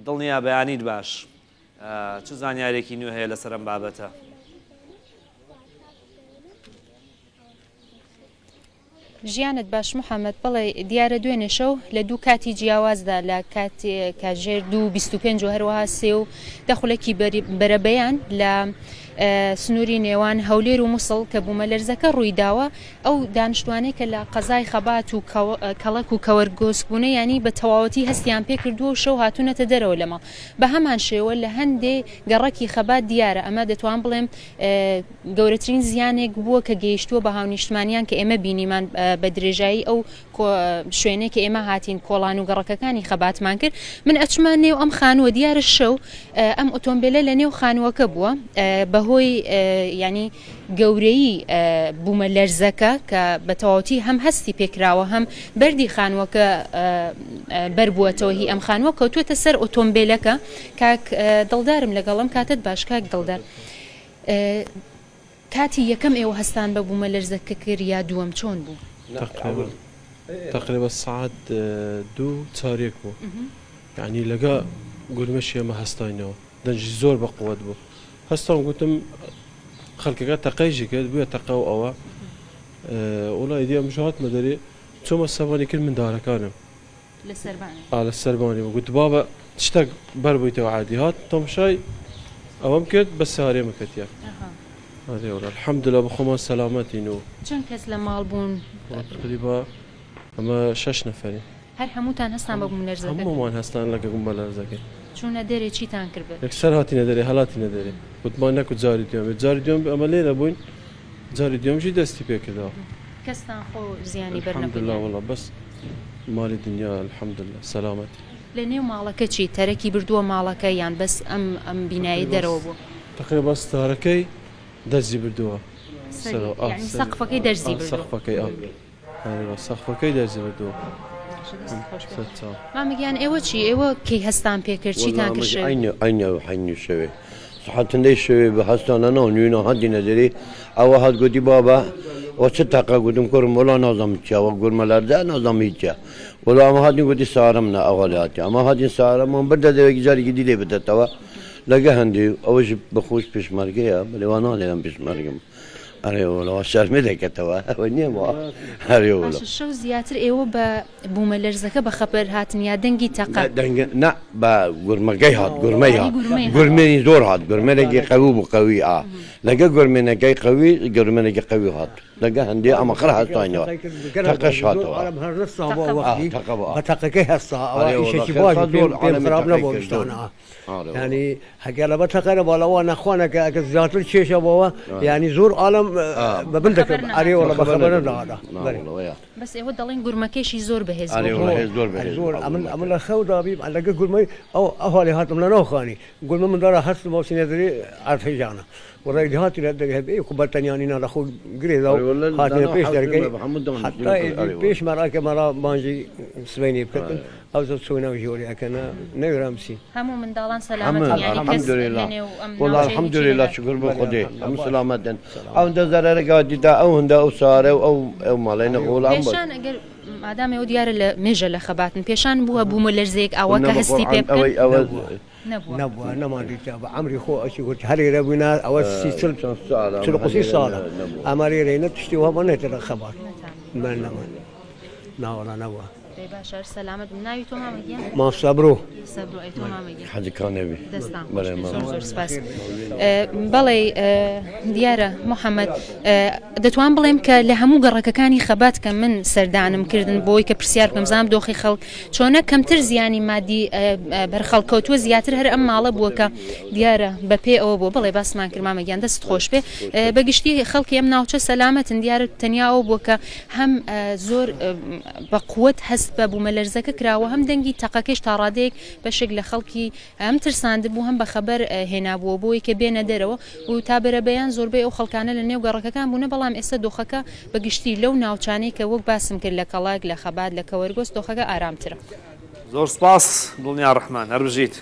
دڵنیا بەیانیت باش چ زانیارێکی نوێ هەیە لەسەر ئەم بابەتە؟ ژیانت باش محەمەد، بەڵێ دیارە دوێنێ شەو لە دوو کاتی جیاوازدا لە کاتی کاتژێر 2:25 و هەروەها 3:10 خولەکی بەرەبەیان لە سنووری نێوان هەولێر و موسڵ کە بوومەلەرزەکە ڕوویداوە ئەو دانیشتوانەی کە لە قەزای خەبات و کەڵەک و کەوەرگۆسک بوونە یانی بە تەواوەتی هەستیان پێکردووە و شەو هاتوونەتە دەرەوە لە ماڵ بە هەمان شێوە لە هەندێ گەڕەکی خەبات دیارە ئەمە دەتوان بڵێم گەورەترین زیانێک بووە کە گەیشتووە بە هاونیشتمانیان کە ئێمە بینیمان بە درێژایی ئەو شوێنەی کە ئێمە هاتین کۆڵان و گەڕەکەکانی خەباتمان کرد من ئەچمە نێو ئەم خانووە دیارە شەو ئەم ئۆتۆمبیلە لە نێو خانووەکە بووە بەهۆی ینی گەورەی بوومە لەرزەکە کە بە تەواوەتی هەم هەستی پێکراوە هەم بەردی خانووەکە بەربووەتەوە هی ئەم خانووە کەوتووەتە سەر ئۆتۆمبیلەکە کاک دڵدارم لەگەڵم کاتت باش کاک دڵدار کاتی یەکەم ئێوە هەستان بە بوومەلەرزەکە کرد یا دووەم چۆن بوو؟ تەقریبا سەعات دوو چاریەک بوو یانی لەگە گورمەشی ئێمە هەستاینەوە دەنگی زۆر بە قوت بوو هەستام گوتم خەڵکەکە تەقەیشی کرد بووە تەقە و ئەوە وڵا ئیدی ئەمش هاتمە دەرێ چۆمە سەبانی کرد مندارەکانم لە سەربانی. ئا لە سەربانی بوو گوت بابە شتەک بەر بوویتەوە عادی هات تەمشای ئەوەم کرد بە سارێمە کەتیە ئەرێ وەڵا الحمدللە بە خۆمان سەلامەتین و. چەند کەس لە ماڵ بوون؟ تقریبا ئەمە شەش نەفەرین. هەر هەمووتان هەستان بە بووملەرزەکە؟ هەموومان هەستان لەگە بوومەلەرزەکەی. چوونە دەرێ چیتان کرد بەس؟ یەکسەر هاتینە دەرێ هەلاتینە دەرێ وتمان نەکو جاری دووەم بێ جاری دووەم ئەمە لێرە بووین جاری دووەم ژی دەستی پێ کردەوە. کەستان خۆ زیانی بەر نەبوو؟ الحمدللە وەڵا بەس مالی دنیا الحمدللە سەلامەتی. لە نێو ماڵەکە چی؟ تەرەکی بردووە ماڵەکە یان بەس ئەم ئەم بینایەی دەرەوە بووە؟ تەقریبا ستارەکەی دەرزی بردووە سەرەوە ئا یانی سەقفەکەی دەرزی بردووە؟ سەقفەکەی ئا. ئەرێ سەقفەکەی دەرزی بردووە. باشە دەستت خۆش بێت. سەرچاو. مامە گیان ئێوە چی؟ ئێوە کەی هەستان پێ کرد؟ چیتان کرد شەوێ؟ عەینە عەینە عەینی شەوێ سەعات چەندەی شەوێ بە هەستانە ناو نوێنا هاتینە دەرێ ئەوە هات گوتی بابە وە چ تەقە گوتم کوڕم وەڵا نازانم چیە وە گورمە لەرزە نازانم هیچ چیە وەڵا ئەمە هاتین گوتی سارم نا ئەوها لێ هاتیە ئەمە هاتین سارەمان بردە دەوێکی جارێکی دی لێ بدەتەوە لەگە هەندێ ئەوەش بەخۆش پێشمەرگەیە بەلێ وا ناڵێ ئەم پێشمەرگم ئەرێ وەڵا شەرمێ دەکەتەوە ئەوە نییە وا ئەرێ وەڵا. باشە شەو زیاتر ئێوە بە بوومەلەرزەکە بە خەبەر هاتن یا دەنگی تەقە؟ دەنگ نا بە گورمەکەی هات گورمەی یانی هات گورمەی هات. گورمێنی زۆر هات گورمێنێکی قەوی بوو قەوی ئا لەگە گورمێنەکەی قەوی گورمێنێکی قەوی هات لەگە هەندێ ئەمە خڕ هەستاینەوە تەقەش هاتەوە تەقە ئا تەقە بوو ئا بە تەقەکەی هەستا ئەوە ئەرێ وەڵا ئیشێکی خێر باش تا بوو زۆر پێم عالەمی خراپ تەقەی نەبوو کرد زۆر گشتانە ئارێ وەڵا. یانی هەگەر لەبەر تەقەرە باڵا وا نەخوانەکە ئەگەر زیاتر کێشە بۆوە یانی زۆر عالەم بە بن دەکرد ئەرێ وەڵا بە خەبەر نەدەهاتا بەرێ. بەس ئێوە دەڵێن گورمەکەیشی زۆر بەهێز ئەرێ بوو. وەڵا هێز زۆر بەهێز زۆر بوو ئەمن گورمەکەی. ئەمن لە خەو دابیم لەگە گورمەی ئەو ئەوهالی هاتم لە ناو خانی گورمە من دارا هەستم بۆ سینە دەرێ عەرد هێژانە وەڵا ئیدی هاتینە دەرێ هەبێ کو بەتەنیانی نا لە خۆ گرێ دا و ئەرێ وەڵا هاتینە دانا پێش حەوت دەرگەی بە هەموو دانیشتین حەتا کرد ئیدی ئەرێ وەڵا. پێش مەراکە مەرا بانگی سبەینێ بکردن ئەوجا چووینە ژوورێ ئەکەنە نەوێران بچین. هەموو منداڵان هەموو سەلامەتن یانی کەس الحمدللە لە نێو ئەم وەڵا ناوچەیە هیچی الحمدللە نەهات. شوکر بۆ بەلێ خودێ الحمدللە هەموو باش سەلامەتن سەلامەت. ئەوەندە زەرەرەکە دیتا ئەوەندە ئەو سارە و ئەو ئەو ماڵەی نەخۆڵان بوو. پێشان ئەگەر مادام ئێوە دیارە لە مێژە لە خەباتن پێشان بووە بوومەلەرزەیەک ئاوا نە کە بە هەستی پێ قورعان بکەن؟ ئەوەی ئەوە نەبووە نەبووە. نەبووە نەمان دیتە بە عەمری خۆ ئەچی گوت هەر لێرە بووینە ئەوە سی چل چەند ساڵە چل ئەمە هەر قوسی لێرە ساڵە نەبووە. ئەمە لێرەینە تشتی وەها نێتە لە خەبات نەتان بەل نەمان ناوەڵا نەبووە. دەی باشە هەر سەلامەت بن ناوی تۆ مامە گیان؟ مام سەبرۆ. سەبرۆ ئەی تۆ مامە گیان؟ حەجی کانێ بی. دەستان خۆش بەڵێ بێ مامە. زۆر زۆر سپاس. بەڵێ دیارە محەممەد دەتوان بڵێم کە لە هەموو گەڕەکەکانی خەبات کە من سەردانم کردن بۆی کە پرسیار بکەم زانم دۆخی خەڵک چۆنە کەمتر زیانی مادی بەر خەڵک کەوتووە زیاتر هەر ئەم ماڵە بووە کە دیارە بە پێ ئەوە بووە بەڵێ باسمان کرد مامە گیان دەست خۆش بێ بە گشتی خەڵکی ئەم ناوچە سەلامەتن دیارە تەنیا ئەوە بووە کە هەم زۆر بە قوت هەست بە بوومەلەرزەکە کراوە هەم دەنگی تەقەکەیش تا ڕادەیەک بەشێک لە خەڵکی هەم ترساندبوو هەم بە خەبەر هێنابووە بۆی کە بێنە دەرەوە و تا بەرەبەیان زۆربەی ئەو خەڵکانە لە نێو گەڕەکەکان بوونە بەڵام ئێستا دۆخەکە بە گشتی لەو ناوچانەی کە وەک باسم کرد لە کەڵەک لە خەبات لە کەوەرگۆز دۆخەکە ئارامترە. زۆر سپاس دڵنیا ڕەحمان هەر بژیت.